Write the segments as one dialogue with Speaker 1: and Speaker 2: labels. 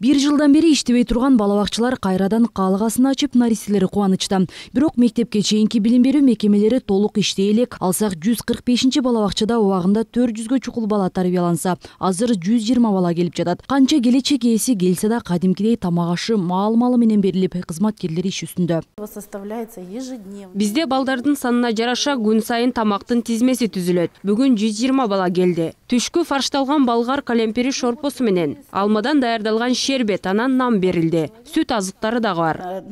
Speaker 1: 1 жылдан бери иштебей турган бала бакчалар кайрадан каалыгасын ачып, наристелери кубанычта. Бирок мектепке чейинки билим берүү мекемелери толук иштей элек. Алсак 145 бала бакчада убагында 400гө чукул бала тарбияланса, азыр 120 бала келип жатат. Канча келечек ээси келсе да кадимкидей тамак ашы маал-маалы менен берилип, кызматкерлер иш үстүндө.
Speaker 2: Бизде балдардын санына жараша күн сайын тамактын тизмеси түзүлөт. Бүгүн 120 бала келди. Түшкү фаршталган болгар калемпири шорпосу менен, алмадан даярдалган шербет, анан нан берилди. Сүт азыктары дагы бар.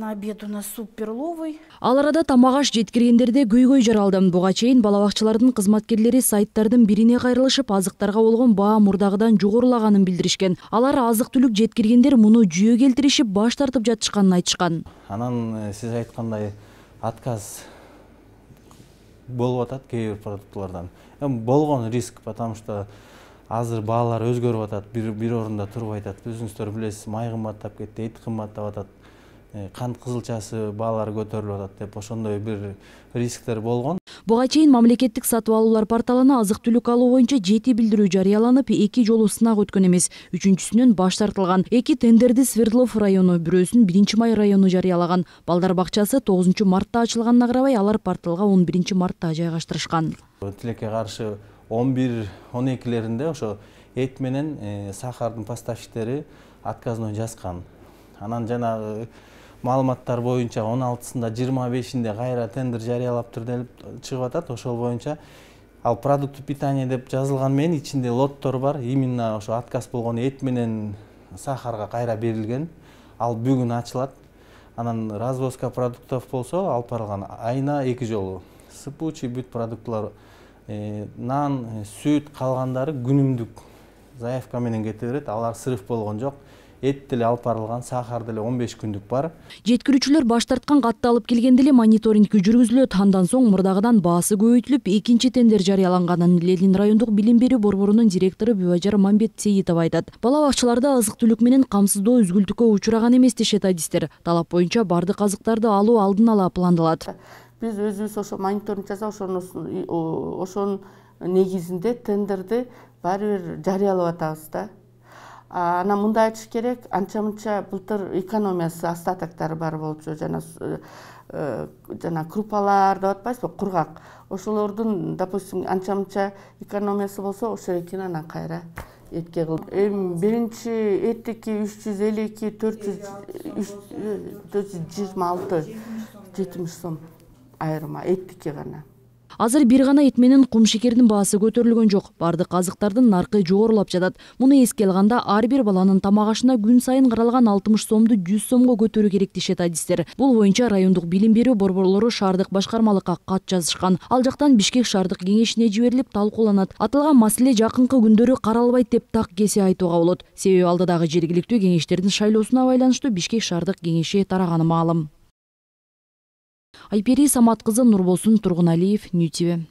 Speaker 1: Ал арада тамак аш жеткиргендерде көйгөй жаралды. Буга чейин бала бакчалардын кызматкерлери сайттардын бирине кайрылышып, азыктарга болгон баа мурдагыдан жогорулаганын билдиришкен. Алар азык-түлүк жеткиргендер муну жүйө келтиришип, баш тартып жатышканын айтышкан.
Speaker 3: Анан сиз айткандай отказ болуп атат кээ бир продуктылардан. Болгон риск, потому что азыр баалар өзгөрүп атат, бир орунда турбай атат. Өзүңүздөр билесиз, май кымбаттап кетти, эт кымбаттап атат, кант кызылчасы баалары көтөрүлүп атат деп ошондой бир рисктер болгон.
Speaker 1: Буга чейин мамлекеттик сатып алуулар порталына азык-түлүк алуу боюнча 7 билдирүү жарыяланып, 2 жолу сынак өткөн эмес, 3-сүнөн баш тартылган. 2 тендерди Свердлов району, бирөөсүн 1-Май району жарыялаган. Балдар бакчасы 9-мартта ачылганына карабай, алар порталга 11-мартта жайгаштырышкан.
Speaker 3: Тилекке каршы 11-12леринде ошо эт менен сахардын поставщиктери отказной жазган. Анан жанагы маалыматтар боюнча 16-сында 25-инде кайра тендер жарыялаптыр деп чыгып атат. Ошол боюнча ал продукты питания деп жазылган менен ичинде лоттор бар. Именно ошо отказ болгон эт менен сахарга кайра берилген. Ал бүгүн ачылат. Анан развозка продуктов болсо алып барылган айына 2 жолу. Сыпучий бүт продуктлар, нан, сүт калгандары күнүмдүк заявка менен кете берет. Алар срыв болгон жок. Эт деле алып барылган, сахар деле 15 күндүк бар.
Speaker 1: Жеткирүүчүлөр баш тарткан катты алып келгенде эле мониторинг жүргүзүлөт. Андан соң мурдагыдан баасы көбөйтүлүп, 2-чи тендер жарыяланганын Ленин райондук билим берүү борборунун директору Бүбажар Мамбет-Сейитов айтат. Бала бакчаларда азык-түлүк менен камсыздоо үзгүлтүккө учураган эмес дешет адистер. Талап боюнча бардык азыктарды алуу алдын ала пландалат.
Speaker 4: Биз өзүбүз ошо мониторинг жасап, ошонун негизинде тендерди баары бир жарыялап атабыз да. Анан мындай айтыш керек, анча-мынча былтыр экономиясы остатоктары бар болчу, жана крупалар деп атпайсызбы, кургак. Ошолордун, допустим, анча-мынча экономиясы болсо, ошо экен анан кайра этке кылып. Биринчи эттики 352, 426, 70 сом айырма эттики гана.
Speaker 1: Азыр бир гана эт менен кумшекердин баасы көтөрүлгөн жок. Бардык азыктардын наркы жогорулап жатат. Муну эске алганда ар бир баланын тамак ашына күн сайын каралган 60 сомду 100 сомго көтөрүү керек дешет адистер. Бул боюнча райондук билим берүү борборлору шаардык башкармалыкка кат жазышкан. Ал жактан Бишкек шаардык кеңешине жиберилип талкууланат. Аталган маселе жакынкы күндөрү каралбайт деп так кесе айтууга болот. Себеби алдыдагы жергиликтүү кеңештердин шайлоосуна байланыштуу Бишкек шаардык кеңеши тараганы маалым. Айпери Самат кызы, Нурболсун Тургуналиев, Нью ТВ.